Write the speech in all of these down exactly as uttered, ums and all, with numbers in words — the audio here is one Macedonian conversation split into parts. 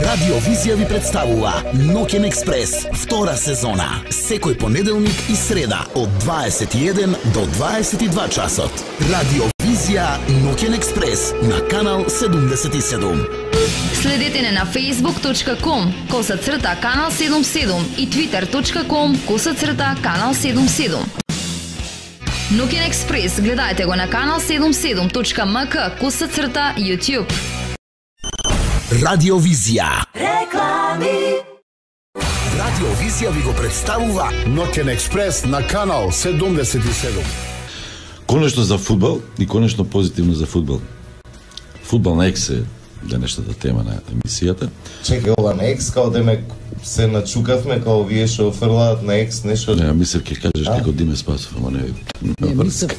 Радио Визија ви представува Ноќен експрес, втора сезона. Секој понеделник и среда од дваесет и еден до дваесет и два часот. Радио Визија Ноќен експрес на канал седумдесет и седум. Следете не на facebook точка com коса црта канал седумдесет и седум и twitter точка com коса црта канал седумдесет и седум. Ноќен експрес гледајте го на канал седумдесет и седум точка ем ка коса црта YouTube. Радио Визија. Реклами. Радио Визија ви го представува Ноќен експрес на канал седумдесет и седум. Конечно за фудбал и конечно позитивно за фудбал. Фудбал на Екс е денешната тема на емисијата. Чекај, ова на Екс, као демек се начукавме, као вие што офрлаат на Екс нешто. Не, мислев ќе кажеш како Диме Спасов, ама не. Не, мислев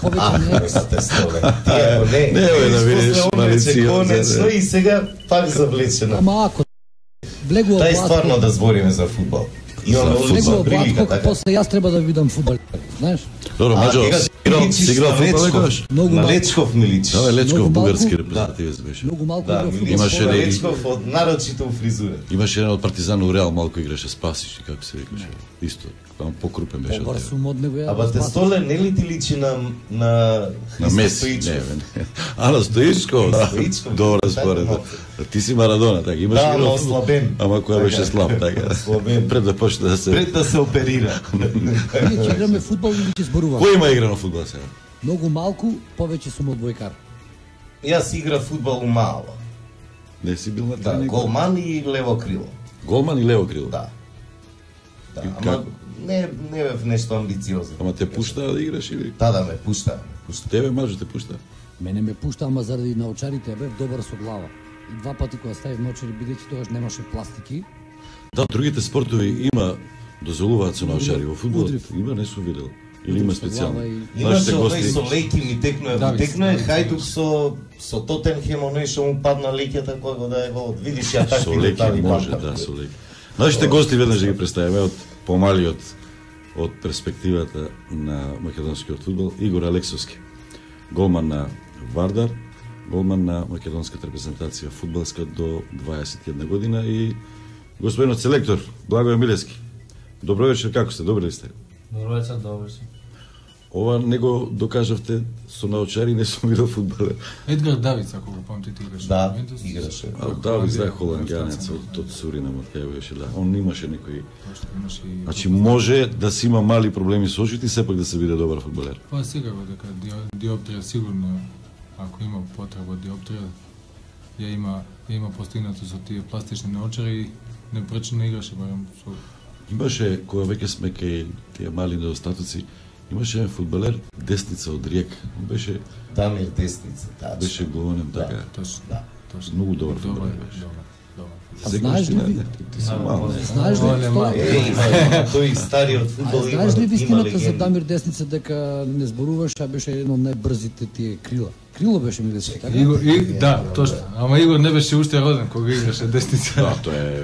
повеќе на Екс. А, те столе. Ти ако не, не, бе, да видиш малиција. Конечно и сега пак завлечено. Ама ако влегува Тај Блатко, стварно да збориме за фудбал. Имаме влегува одлична прилика, Блатко, така. после јас треба да видам фудбал, знаеш? Добро, Маџо, играл, си играл фудбал некогаш? Многу На малку. Лечков ми личи. Да, бе, Лечков Многу бугарски малку. репрезентативец беше. Многу малку Да, играв ми фудбал. личи Имаше на ли- Лечков од нарочито фризура. Имаше еден од Партизан у Реал, малку играше Спасич, и како се викаше. Исто, само покрупен беше од Побар тебе. сум од него ја. Аба те Спасиш. столе не ли ти личи на на На Христо Меси, Стоичков? не, бе, не. Ана Стоичков, да. Стоичков, Добра така според. малку. Ти си Марадона, така, имаш Да, играл ама фудбал. ослабен. Ама која Така. беше слаб, така. Ослабен. Пред да почне да се... Пред да се оперира. Ние ќе играме фудбал или ќе зборуваме? Кој има игра на фудбал сега? Многу малку, повеќе сум одбојкар. Јас игра фудбал у мало. Не си бил на Да, тренинг? голман и лево крило. Голман и лево крило? Да. Да, И ама како? не не бев нешто амбициозно. Ама те пушта да играш или? Да, да, ме пушта, ме пушта. Тебе Маџо те пушта? Мене ме пушта, ама заради научарите бев добар со глава. И два пати кога ставив научари, бидејќи тогаш немаше пластики, Да, другите спортови има дозволуваат со научари во фудбалот. Удрив. Има, не сум видел. Или има Удрив со специјално. глава и- Имаше Нашите овој со гости лејки ми текнуе, Да, ми ви текнуе знаете, Хајдук да. со со Тотенхем, оној што му падна леќата кога го даде гол. Видиш ја со такви леки детали може, памтам. да, со леки. Нашите гости веднаш да ги представиме од помалиот од перспективата на македонскиот фудбал, Игор Алексовски, голман на Вардар, голман на македонската репрезентација фудбалска до дваесет и една година и господинот селектор Благоје Милевски. Добро вечер, како сте? Добри ли сте? Добро вечер, добро си. Ова не го докажавте со научари, не сум видел фудбалер. Едгар Давиц, ако го памтите, играше. Да, во Ювентус. играше. А Давид знае холанѓанец од од Суринам, од кај беше, да. Он имаше некои... Точно, имаше и... Значи може да си има мали проблеми со очите и сепак да се биде добар фудбалер. Па секако дека дио- диоптрија сигурно, ако има потреба од диоптрија, ја има, ја има постигнато со тие пластични наочари и не пречено играше, барем со... Имаше, кога веќе сме кај тие мали недостатоци, имаше еден фудбалер, десница од Риек. Он беше, Дамир Десница, да. беше голем, така. Точно, Да. точно. Многу добар Добар, фудбалер беше. добар, добар. А Секој знаеш што ли не, ви- не, ти, ти си мал, не. Знаеш ли Оле, што- мал. Е, има, има тој стариот А фудбал има, знаеш ли има вистината за легенди. Дамир Десница дека не зборуваш, а беше едно од најбрзите тие крила? Крило беше Милевски, така? Игор, и, да, точно. Ама Игор не беше уште роден кога играше десница. Да, тоа е,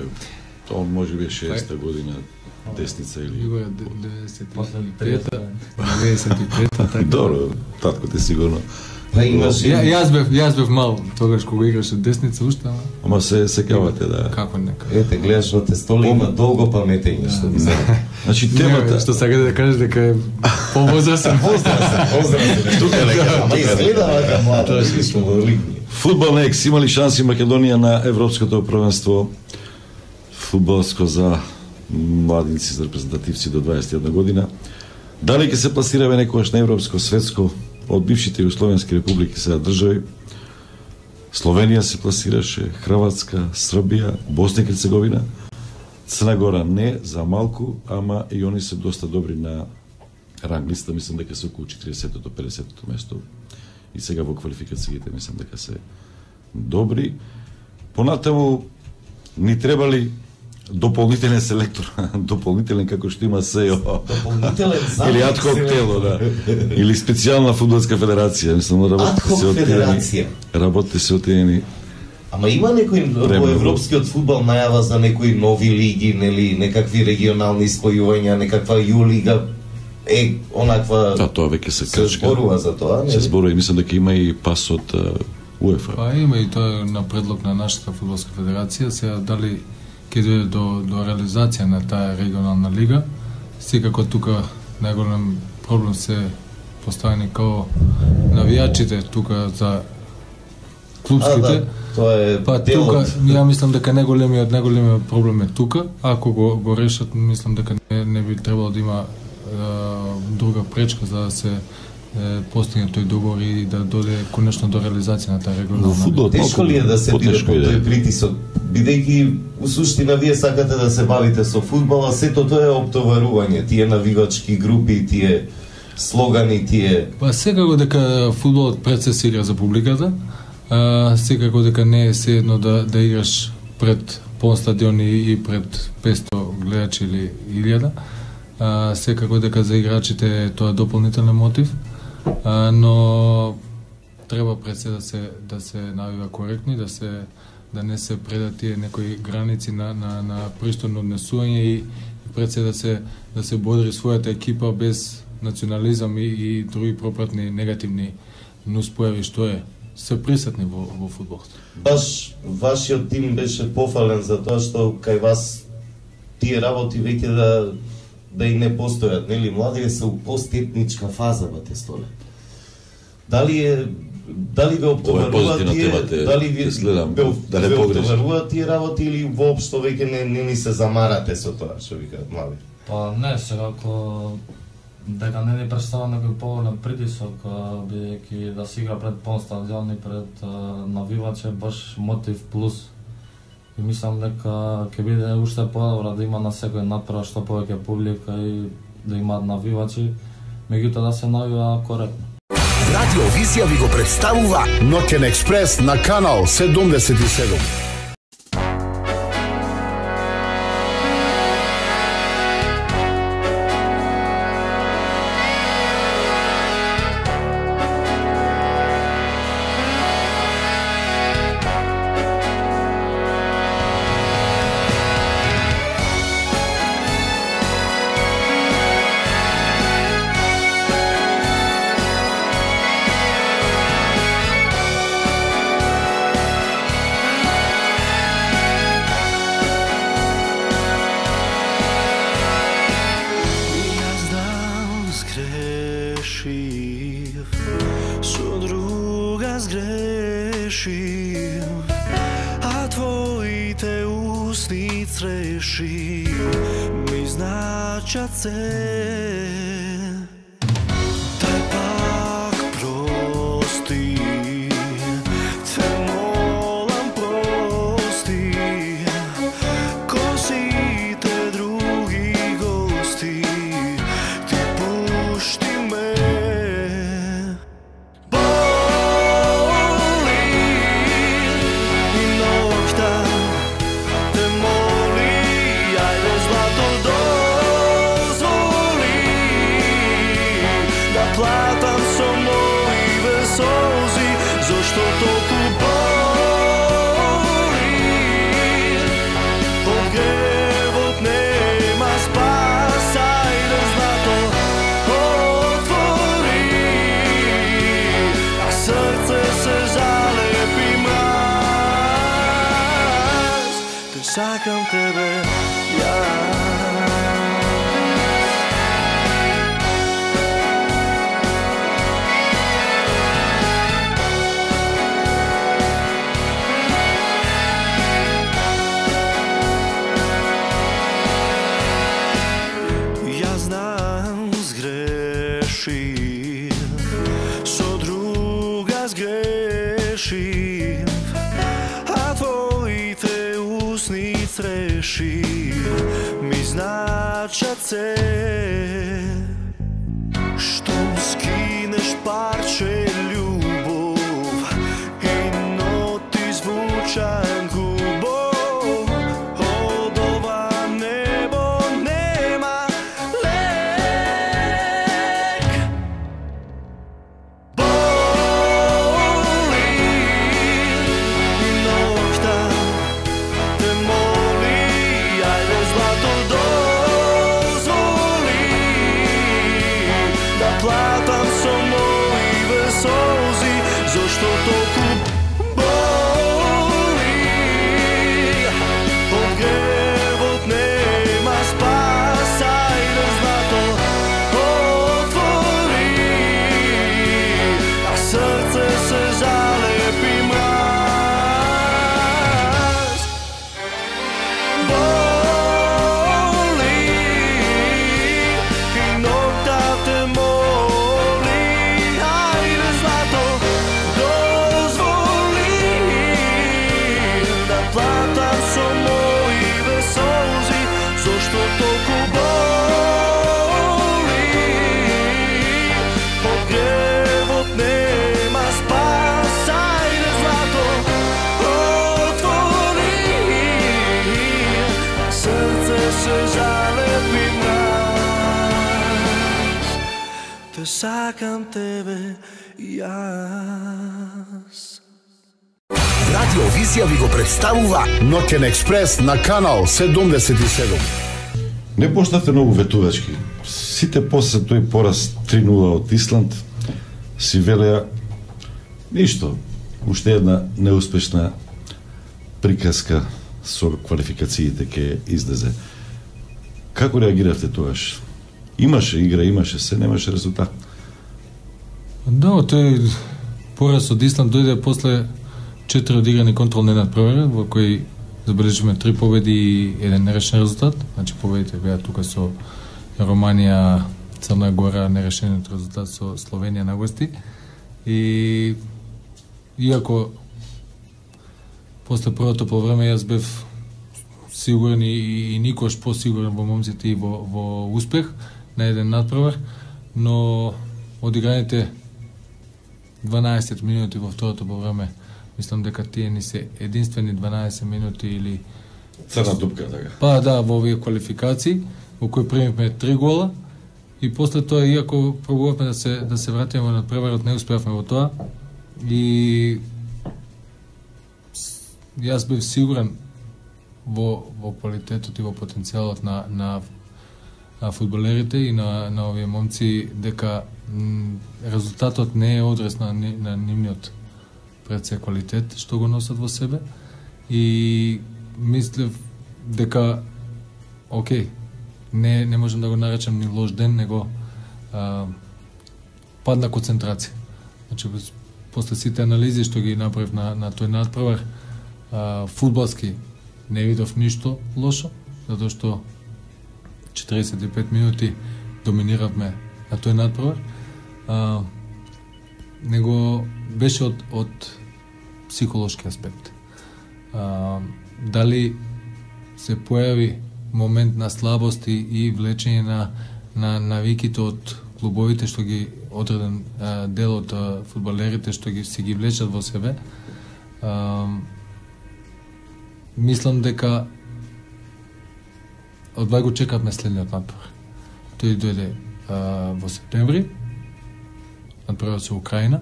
тоа може би е шеста година, десница или... Игор е деветдесет и пета, деветдесет и пета, така. Добро, татко ти сигурно. Па имаше Ја, јас бев, јас бев мал тогаш кога играше десница уште, ама Ама се секавате, да. како нека. Ете, гледаш во те столи има долго паметење што би се. Значи Темата темата... што сакате да кажеш дека е повозрасен. Поздрав. Тука лека. Ама изгледа вака млада, што во лигни. Фудбал на Екс, има ли шанси Македонија на Европското првенство фудбалско за младинци, за репрезентативци до дваесет и една година? Дали ќе се пласираме некогаш на европско, светско, од бившите југословенски републики сега држави? Словенија се пласираше, Хрватска, Србија, Босна и Херцеговина, Црна Гора не, за малку, ама и они се доста добри на ранг листа, мислам дека се околу четиридесетото до педесетото место. И сега во квалификациите мислам дека се добри. Понатаму ни требали дополнителен селектор, дополнителен како што има СЕО. Дополнителен замок Или адхок селектор. тело, да. Или специјална фудбалска федерација, мислам работите Адхок се отидени. федерација. Работите се отидени. Ама има некој во Време. европскиот фудбал најава за некои нови лиги, нели, некакви регионални спојувања, некаква Јулига, е, онаква... Да, тоа веќе се се крчка. зборува за тоа, Се нели? зборува и мислам дека има и пас од а, УЕФА. Па има и тоа на предлог на нашата фудбалска федерација, сега дали ќе дојде до, до реализација на таа регионална лига. Секако тука најголем проблем се поставени као навијачите тука за клубските. А, да, тоа е па дел тука, од... ја мислам дека најголемиот најголемиот проблем е тука. Ако го, го решат, мислам дека не, не би требало да има е, друга пречка за да се е, постигне тој договор и да дојде конечно до реализација на таа регионална лига. Тешко ли е да се биде под тој притисок? Бидејќи у суштина вие сакате да се бавите со фудбал, а сето тоа е оптоварување, тие навигачки групи, тие слогани, тие... Па секако дека фудбалот пред се се игра за публиката, а, секако дека не е седно да, да играш пред пон стадиони и пред песто гледачи или илјада. А, секако дека за играчите е тоа дополнителен мотив, а, но треба пред се да се да се навива коректни, да се да не се предат тие некои граници на на на пристојно однесување и пред се да се да се бодри својата екипа без национализам и, и други пропратни негативни нуспојави што е се присутни во во фудбалот. Баш вашиот тим беше пофален за тоа што кај вас тие работи веќе да да и не постојат, нели? Младите се у постетничка фаза во те столе. Дали е дали ве оптоваруваат тие, дали ви следам, ве, да не ве погрешам. оптоваруваат тие работи или воопшто веќе не, не ни се замарате со тоа, што викаат млади? Па не, сега ако дека не ни представа некој поголем притисок, бидејќи да се игра пред пон стадион и пред навивачи е баш мотив плюс. И мислам дека ќе биде уште подобро да има на секој направа што повеќе публика и да имаат навивачи, меѓутоа да се навива коректно. Радио Визија ви го представува Ноќен експрес на канал седумдесет и седум. Сакам тебе, ја. Ја знам сгрешив, со друга сгрешив, а твоите усни среши ми значат се. Штом скинеш парче љубов и ноти звучан губов, од ова небо нема лек. Боли и ноќта те моли, ајде злато дозволи да платам со мои весози, сакам тебе јас. Радио Визија ви го представува Ноќен експрес на канал седумдесет и седум. Не поштавте многу ветувачки. Сите после тој пораз три нула од Исланд си велеа ништо, уште една неуспешна приказка со квалификациите ке излезе. Како реагиравте тогаш? Имаше игра, имаше се, немаше резултат. Да, тој пораз од Исланд дојде после четири одиграни контролни надпревари, во кои забележиме три победи и еден нерешен резултат. Значи победите беа тука со Романија, Црна Гора, нерешениот резултат со Словенија на гости. И иако после првото полувреме јас бев сигурен и, и никош посигурен во момците и во, во успех на еден надпревар, но одиграните дванаесет минути во второто полувреме, мислам дека тие ни се единствени дванаесет минути или црна дупка така. Па да, во овие квалификации во кои примивме три гола и после тоа иако пробувавме да се да се вратиме во надпреварот, не успеавме во тоа и јас бев сигурен во во квалитетот и во потенцијалот на на на фудбалерите и на на овие момци дека м, резултатот не е одрез на на нивниот пред се квалитет што го носат во себе и мислев дека окей, не не можам да го наречам ни лош ден, него а, падна концентрација. Значи после сите анализи што ги направив на на тој надпревар, а, фудбалски не видов ништо лошо, затоа што четириесет и пет минути доминиравме на тој надпревар. А, него беше од од психолошки аспект. А, дали се појави момент на слабост и, и влечење на на навиките од клубовите што ги одреден а, дел од а, фудбалерите што ги си ги влечат во себе. А, мислам дека одвај го чекавме следниот надпревар. Тој дојде а, во септември, надпревар со Украина,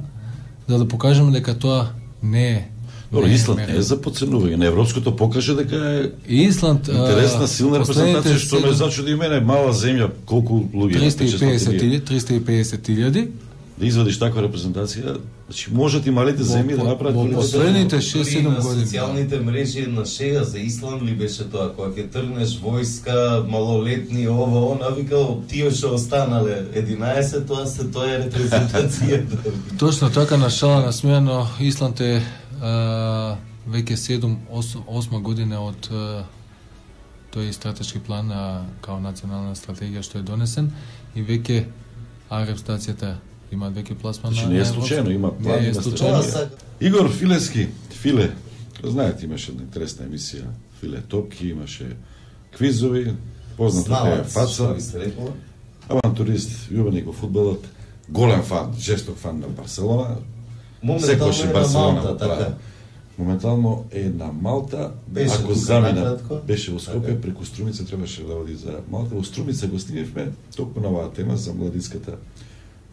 за да покажеме дека тоа не е. Добро, Исланд не е за подценување. На европското покаже дека е Исланд интересна, силна репрезентација, што ме зачуди и мене, мала земја, колку луѓе? триста и песет илјади. Да извадиш таква репрезентација, значи можат и малите земји да направат во последните шест-седум години. На социјалните мрежи на шега за Исланд ли беше тоа, кога ќе тргнеш војска, малолетни, ово, она, викал, тие што останале единаесет, тоа се тоа е репрезентација. Точно така, на шала насмејано, Исланд е а, веќе седум осма година од а, тој стратешки план а, као национална стратегија што е донесен и веќе а репрезентацијата има веќе пласман на. Значи не е случајно, има план, не е има случајно. стратегија. Игор Филески, Филе, знаете, имаше една интересна емисија Филе Топки, имаше квизови, позната е фаца, авантурист, љубеник во фудбалот, голем фан, жесток фан на Барселона. Секојаш е Барселона, така. Моментално е на Малта, беше ако замина, накратко, беше во Скопје, така. Преку Струмица требаше да оди за Малта. Во Струмица го снимевме токму на оваа тема за младинската,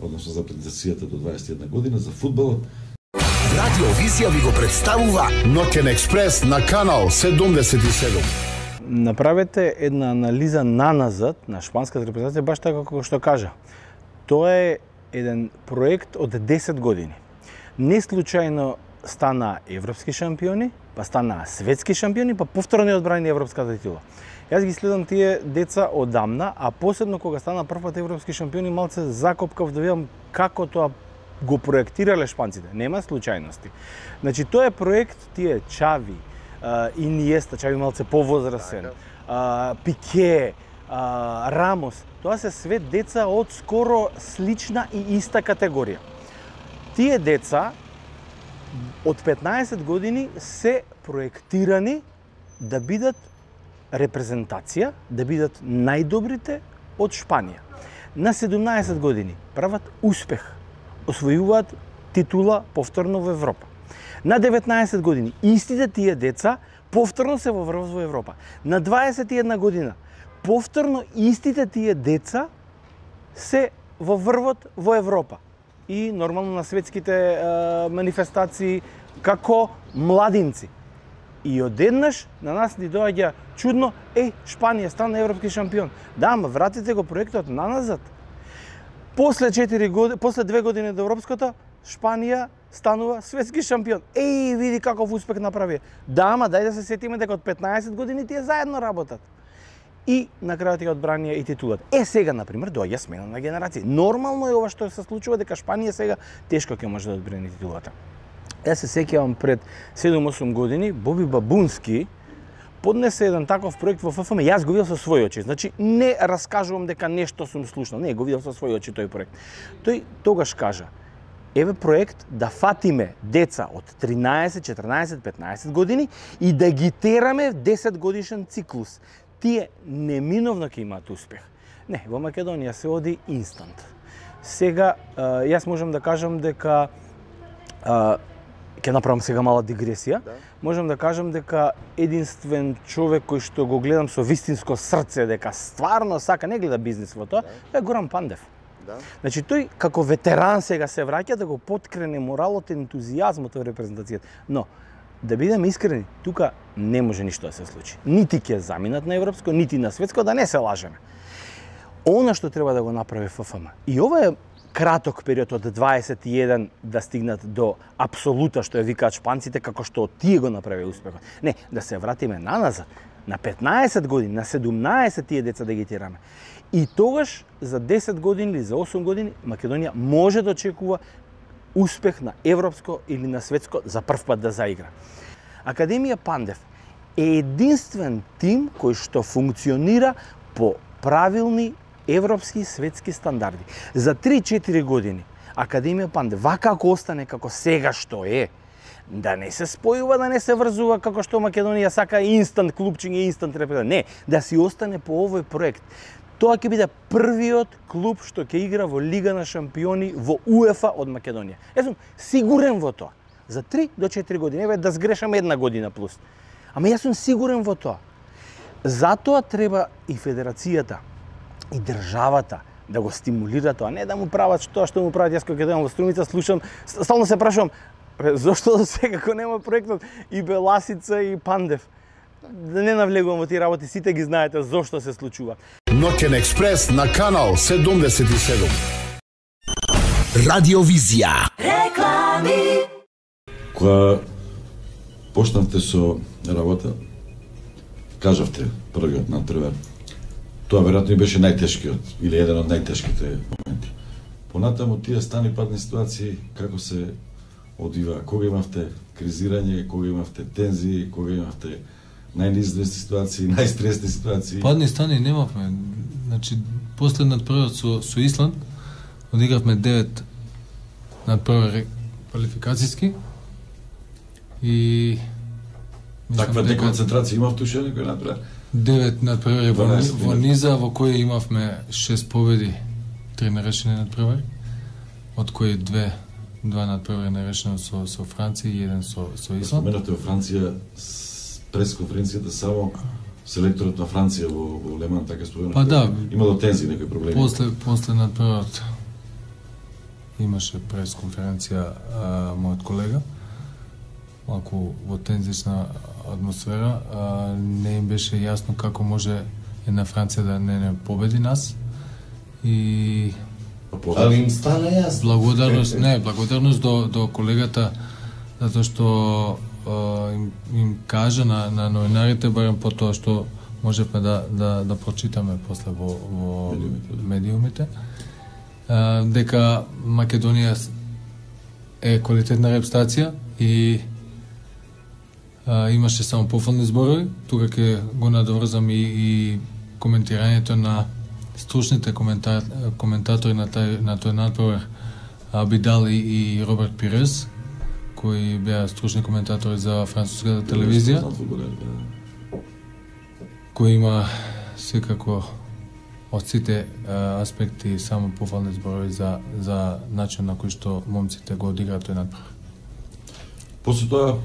односно за претенцијата до дваесет и една година, за фудбалот. Радио Визија ви го представува Ноќен експрес на канал седумдесет и седум. Направете една анализа наназад на шпанската репрезентација, баш така како што кажа. Тоа е еден проект од десет години. Не случајно стана европски шампиони, па стана светски шампиони, па повторно не одбрани европската титула. Јас ги следам тие деца одамна, а посебно кога стана првпат европски шампиони, малце закопкав да видам како тоа го проектирале шпанците. Нема случајности. Значи тоа е проект, тие Чави, Иниеста, Чави малце повозрасен, Пике, Рамос, тоа се све деца од скоро слична и иста категорија. Тие деца од петнаесет години се проектирани да бидат репрезентација, да бидат најдобрите од Шпанија. На седумнаесет години прават успех, освојуваат титула повторно во Европа. На деветнаесет години истите тие деца повторно се воврват во Европа. На дваесет и една година повторно истите тие деца се во врвот во Европа и нормално на светските е, манифестации како младинци. И одеднаш на нас ни доаѓа чудно, еј, Шпанија стана европски шампион. Да, ама вратите го проектот наназад. После четири години, после две години до европското, Шпанија станува светски шампион. Еј, види каков успех направи. Да, ама дај да се сетиме дека од петнаесет години тие заедно работат. И на крајот ја одбранија и титулат. Е, сега, например, доаѓа смена на генерации. Нормално е ова што се случува, дека Шпанија сега тешко ќе може да одбрани титулата. Јас се сеќавам пред седум-осум години, Боби Бабунски поднесе еден таков проект во Ф Ф М. Јас го видов со своји очи. Значи, не раскажувам дека нешто сум слушнал. Не, го видов со своји очи тој проект. Тој тогаш кажа, еве проект да фатиме деца од тринаесет, четрнаесет, петнаесет години и да ги тераме в десет годишен циклус. Тие неминовно ќе имаат успех. Не, во Македонија се оди инстант. Сега, јас можам да кажам дека ќе направам сега мала дигресија. Да. Можам да кажам дека единствен човек кој што го гледам со вистинско срце, дека стварно сака, не гледа бизнис во тоа, тоа е Горан Пандев. Да. Значи тој како ветеран сега се враќа да го поткрене моралот и ентузијазмот во репрезентацијата. Но да бидеме искрени, тука не може ништо да се случи. Нити ќе заминат на европско, нити на светско, да не се лажеме. Она што треба да го направи Ф Ф М. И ова е краток период од дваесет и еден да стигнат до апсолута што ја викаат шпанците, како што тие го направи успехот. Не, да се вратиме наназад, на петнаесет години, на седумнаесет тие деца да ги тераме. И тогаш за десет години или за осум години Македонија може да очекува успех на европско или на светско за прв пат да заигра. Академија Пандев е единствен тим кој што функционира по правилни европски и светски стандарди. За три-четири години Академија Пандев, вака ако остане како сега што е, да не се спојува, да не се врзува како што Македонија сака инстант клубчиња, инстант репрезентација. Не, да си остане по овој проект. Тоа ќе биде првиот клуб што ќе игра во Лига на шампиони во УЕФА од Македонија. Јас сум сигурен во тоа. За три до четири години, еве да сгрешам една година плюс. Ама јас сум сигурен во тоа. Затоа треба и федерацијата и државата да го стимулира тоа, не да му прават тоа што му прават. Јас кога дојдам во Струмица слушам, стално се прашувам, зошто до сега како нема проектот и Беласица и Пандев. Да не навлегувам во тие работи, сите ги знаете зошто се случува. Ноќен експрес на канал седумдесет и седум. Радиовизија. Реклами. Кога почнавте со работа, кажавте првиот надпревар. Тоа веројатно и беше најтешкиот или еден од најтешките моменти. Понатаму тие стани падни ситуации како се одвива, кога имавте кризирање, кога имавте тензии, кога имавте најнизвести ситуации, најстресни ситуации. Падни стани немавме. Значи после надпреварот со со Исланд одигравме девет надпревари квалификацијски и таква деконцентрација имав туше некој надпревар. девет надпревари во, во низа, во кои имавме шест победи, три нерешени надпревари, од кои две два надпревари нерешени со со Франција и еден со со Исланд. Споменавте во Франција пресконференцијата само селекторот на Франција во, во Леман така спомена. Па да, имало тензии, некои проблеми. После после надпреварот имаше пресконференција а, мојот колега, малку во тензична атмосфера, а, не им беше јасно како може една Франција да не не победи нас и али им стана јасно. Благодарност, не, благодарност до до колегата затоа што а, им, им кажа на на новинарите барем по тоа што можевме да да да прочитаме после во во медиумите, а, дека Македонија е квалитетна репстација и а, имаше само пофални зборови. Тука ќе го надоврзам и, и коментирањето на стручните коментар, коментатори на тај на тој надпревар, Абидал и, и Роберт Пирес, кои беа стручни коментатори за француската телевизија, кој има секако од сите а, аспекти само пофални зборови за за начин на кој што момците го одиграат тој надпревар. После тоа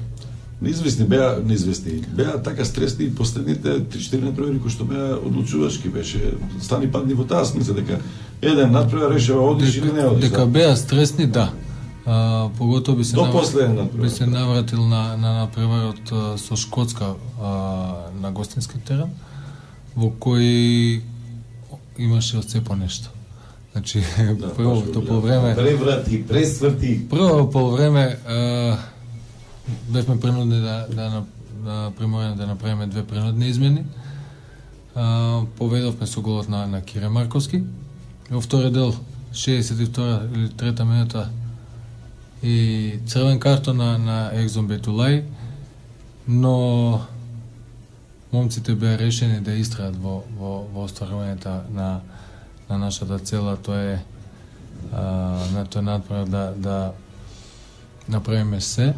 неизвестни беа, неизвестни. Беа така стресни и последните три-четири надпревари кои што беа одлучувачки беше. Стани падни во таа смисла дека еден надпревар решава одиш или не одиш. Дека беа стресни, да. А, поготово би се До навр... последен надпревар. би се навратил на на надпреварот а, со Шкотска а, на гостински терен, во кој имаше од се по нешто. Значи, да, првото полувреме... Преврати, пресврти. Прво полувреме а, бевме принудени да, да, да приморени да направиме две принудни измени. А, поведовме со голот на, на Кире Марковски. Во втори дел, шеесет и втора или трета минута, и црвен картон на, на Екзон Бетулај, но момците беа решени да истраат во, во, во остварувањето на, на нашата цела, тоа е а, на тој надпревар да, да направиме се,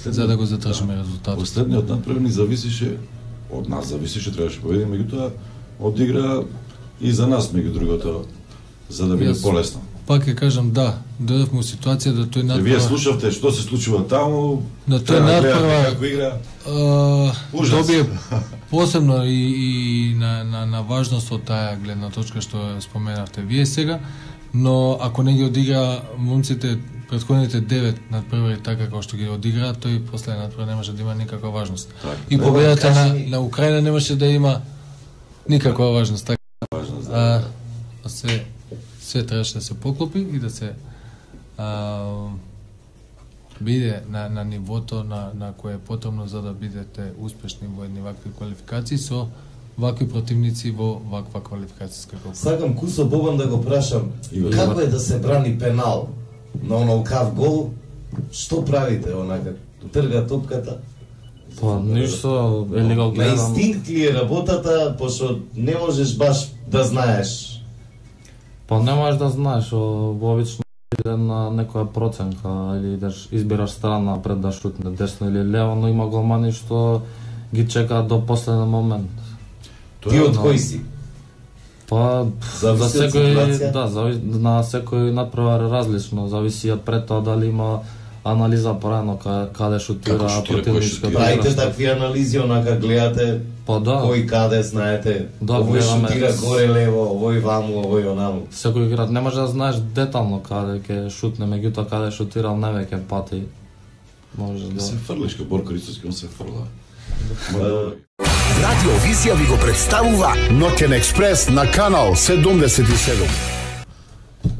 за да го задржиме резултатот. Последниот надпревар ни зависеше, од нас зависеше, требаше победиме, меѓутоа одигра и за нас меѓу другото, за да биде полесно. Пак ќе кажам, да, дојдовме во ситуација да тој надпревар... Вие слушавте што се случува таму, да тој надпревар како игра. Uh, добие посебно и, и на, на, на важност од таа гледна точка што споменавте вие сега, но ако не ги одигра момците претходните девет надпревари така како што ги одигра, тој последен надпревар немаше да има никаква важност. Так, и победата на, на Украина немаше да има никаква важност. Така, важност, да. А, се, се требаше да се поклопи и да се а, биде на, на нивото на, на кое е потребно за да бидете успешни во едни вакви квалификации со вакви противници во ваква квалификацијска група. Сакам Кусо Бобан да го прашам, како е да се брани пенал на онолкав гол? Што правите онака? Трга топката? Па, ништо, или го гледам... На инстинкт ли е работата, пошто не можеш баш да знаеш? Па не можеш да знаеш, обично иде на некоја проценка или идеш, избираш страна пред да шутне десно или лево, но има голмани што ги чекаат до последен момент. Ти од кој си? Па, зависи за секој, ситуација? да, зависи, на секој надпревар различно, зависи од пред тоа дали има анализа порано каде шутира противничката. Правите такви анализи, онака гледате па, да. Кој каде знаете, да, овој шутира горе лево, овој ваму, овој онаму. Секој играч не може да знаеш детално каде ќе шутне, меѓутоа каде шутирал невеќе пати. Може да се фрлиш како Борко Рицовски, он се фрла. Радио Визија ви го представува Ноќен експрес на канал седумдесет и седум.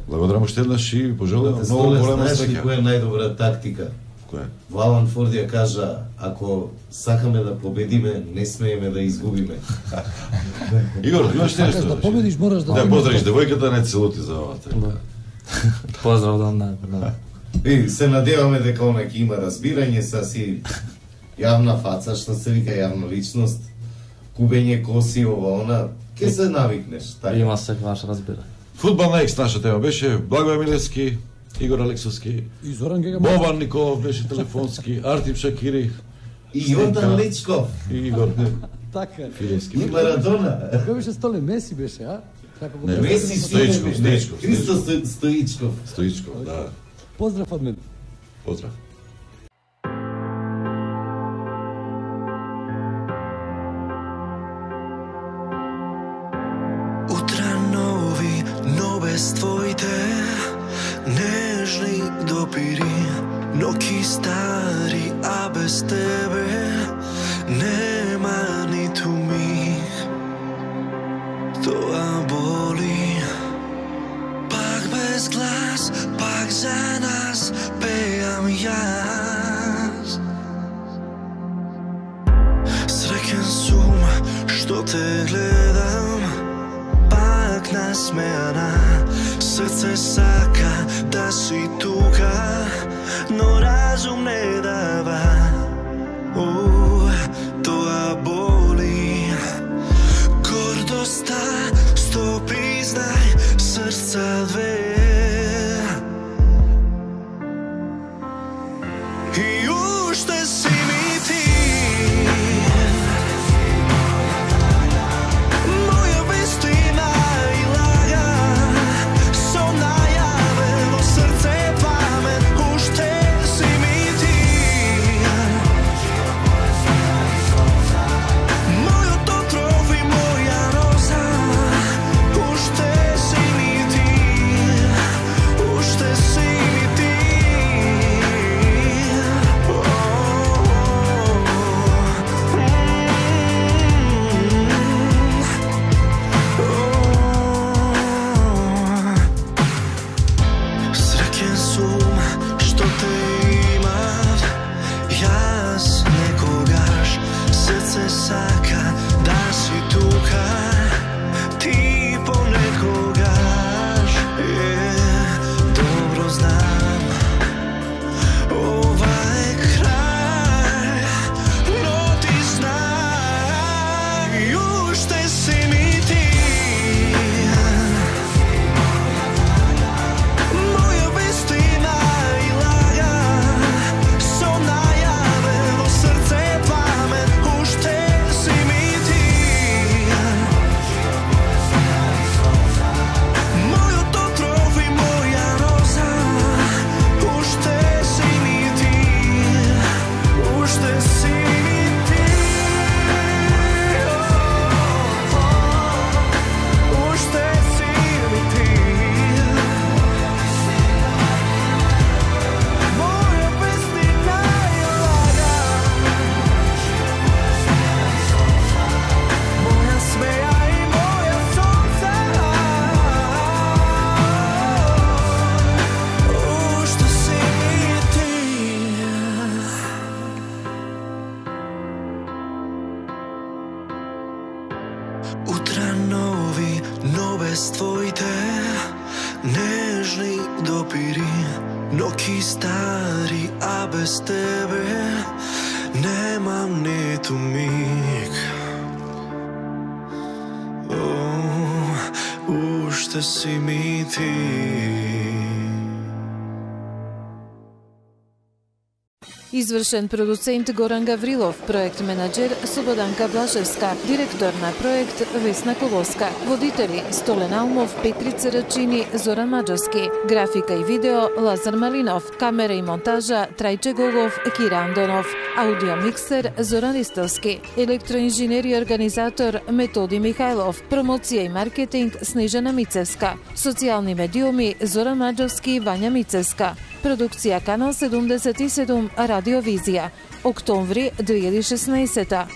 Благодарам уште еднаш и пожелувам многу голема среќа. среќа. Која е најдобра тактика? Која? Валан Форд ја кажа, ако сакаме да победиме, не смееме да изгубиме. Игор, имаш ти нешто? Да победиш, мораш да... Да, поздравиш девојката, не целути за ова. Да. Поздрав да не, да. И се надеваме дека она ќе има разбирање са си јавна фаца, што се вика јавна личност, кубење коси, ова, она, ќе се навикнеш. Така. Има секогаш разбирање. Фудбална екс наша тема беше Благој Милевски, Игор Алексовски, И Зоран Гега. Бобан Николов беше телефонски, Артим Шакири и Јордан Личков. И Игор Така. Филевски. И Марадона. Кој беше Столе? Меси беше, а? Како го... Не, Меси Стоичков, Стоичков. Христо Сто- Стоичков. Стоичков, да. Поздрав од мене. Поздрав. Утра нови, но без твоите нежни допири, ноќи стари, а без тебе нема ниту миг. Тоа боли. Пак без глас, пак за нас пеам јас. Среќен сум што те гледам, пак насмеана. Срце сака да си тука, но разум не дава. О, тоа боли. Гордоста стопи, знај, срца две. И уште си ми ти, моја вистина и лага, со најаве во срце памет. Уште си ми ти, без твоите нежни допири, ноќи стари, а без тебе немам ниту миг. О, уште си ми ти. Извршен продуцент Горан Гаврилов, проект менаџер Слободанка Блажевска, директор на проект Весна Колоска, водители Столен Алмов, Петрица Рачини, Зоран Маџарски, графика и видео Лазар Малинов, камера и монтажа Трајче Гогов, Кира Андонов, аудио миксер Зоран Ристовски, електроинженер и организатор Методи Михајлов, промоција и маркетинг Снежана Мицевска, социјални медиуми Зоран Маџарски и Вања Мицевска, продукција Канал седумдесет и седум Радиовизија, октомври две илјади и шеснаесета.